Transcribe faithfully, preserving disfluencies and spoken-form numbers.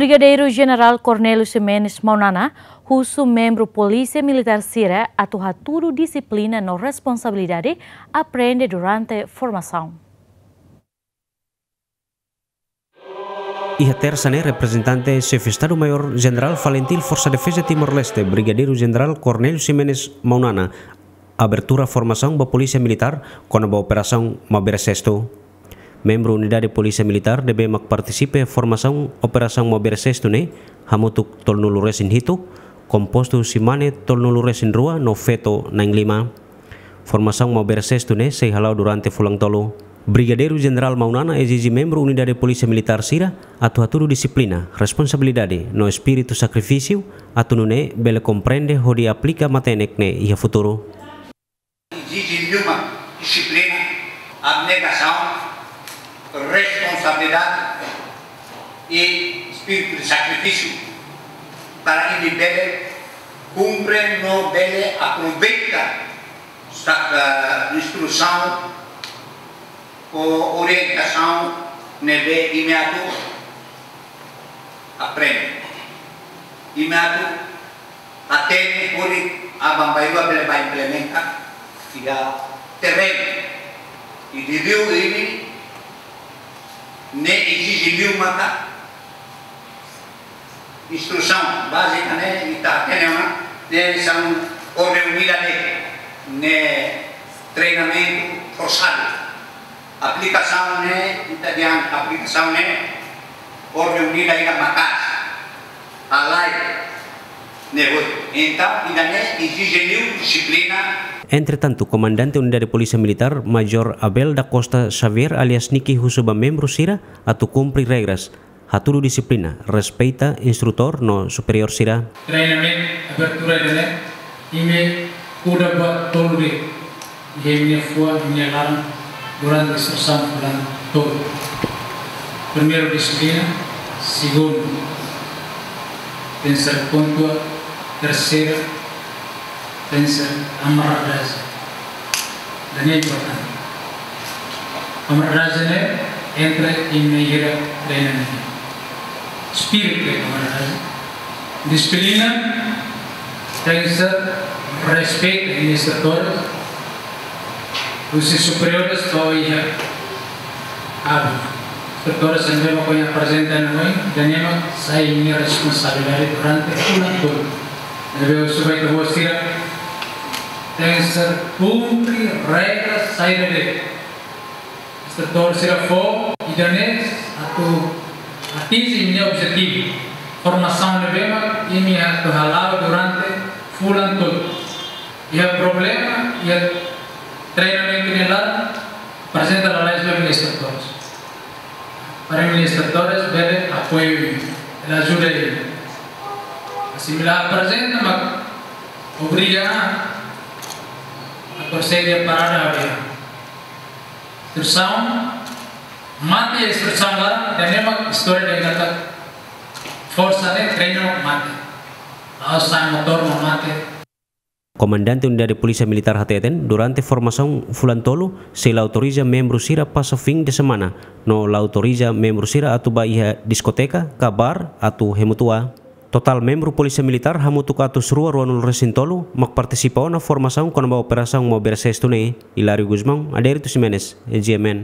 Brigadeiru Jenerál Cornélio Ximenes Maunana husu membru Polísia Militár sira atu hatudu dixiplina no responsabilidade aprende durante formasaun. Iha Tersa ne'e, reprezentante Xefe Estadu-Maiór Jenerál FALINTIL Forsa Defeza Timor-Leste, Brigadeiru Jenerál Cornélio Ximenes Maunana, abertura formasaun ba Polísia Militár kona-ba Operasaun Maubere Sestu. Membru Unidade Polísia Militár ne'ebé mak partisipa iha formasaun Operasaun Maubere Sestu ne'e hamutuk tolunulu-resin-hitu, kompostu husi mane tolunulu-resin-rua no feto na'in-lima. Formasaun Maubere Sestu ne'e sei hala'o durante fulan tolu. Brigadeiru Jenerál Maunana ezije membru Unidade Polísia Militár sira atu hatudu dixiplina, responsabilidade no espíritu sakrifísiu atu nune'e bele komprende hodi aplika matenek ne'e iha futuru. Ezije liu mak dixiplina, abnegasaun, responsabilidade i espíritu de sakrifísiu para imi bele kumpre no bele aproveita sa-, eh, instrusaun ou orientasaun ne'ebé imi atu aprende. Imi atu hatene hodi aban-bainrua bele bá implementa iha terrenu. I liuliu imi-nia ezije liu maka instrusaun bázika ne'e ita hatene ona, ne'e hanesan orden unida de'it, ne'e treinamentu forsadu. Aplikasaun ne'e, ita dehan aplikasaun ne'e orden unida ida maka'as, halai ne'e hotu. Entaun, ida-ne'e ezije liu dixiplina. Entretantu, Komandante Unidade Polísia Militár, Majór Abel da Costa Xavier alias Niki husu ba membru sira atu kumpre regras, hatudu dixiplina, respeita instrutór no superiór sira. Treinamentu abertura ida-ne'e, imi kuda buat tolu de'it iha imi-nia fuan, imi-nia laran durante instrusaun fulan tolu. Primeiru, dixiplina. Segundu, tenke ser pontuál. Terseiru, tenke ser kamaradagem. Ida-ne'e importante. Kamaradagem ne'e entre imi-nia treinamentu. Espíritu de kamaradagem. Dixiplina, tenke ser respeita imi-nia instrutores, husi superiores to'o iha aban. Instrutores ne'ebé mak ohin aprezenta ona ohin, ida-ne'e mak sai imi-nia responsabilidade durante fulan tolu. Ne'ebé husu ba ita-boot sira, tenke ser kumpre regras saida de'it instrutór sira fó, ida-ne'e atu atinje imi-nia objetivu. Formasaun ne'ebé mak imi atu hala'o durante fulan tolu. Iha problema iha treinamentu nia laran, aprezenta lalais ba imi-nia instrutores. Para imi-nia instrutores bele apoiu imi, bele ajuda imi. Asimila aprezenta mak obriga a, a prosede parada aviaun. Instrusaun mate, instrusaun laran, ida-ne'e mak istória dehan katak forsa ne'e treinu mak mate. La'ós sai motór mak mate. Komandante Unidade Polísia Militár hateten, durante formasaun fulan tolu, sei la autoriza membru sira pasa fin de semana, no la autoriza membru sira atu bá iha diskoteka ka bar atu hemu tua. Totál membru Polísia Militár hamutuk atus rua ruanulu-resin-tolu mak partisipa ona formasaun kona-ba Operasaun Maubere Sestu ne'e. Hilário Gusmão, Adérito Ximenes, G M N.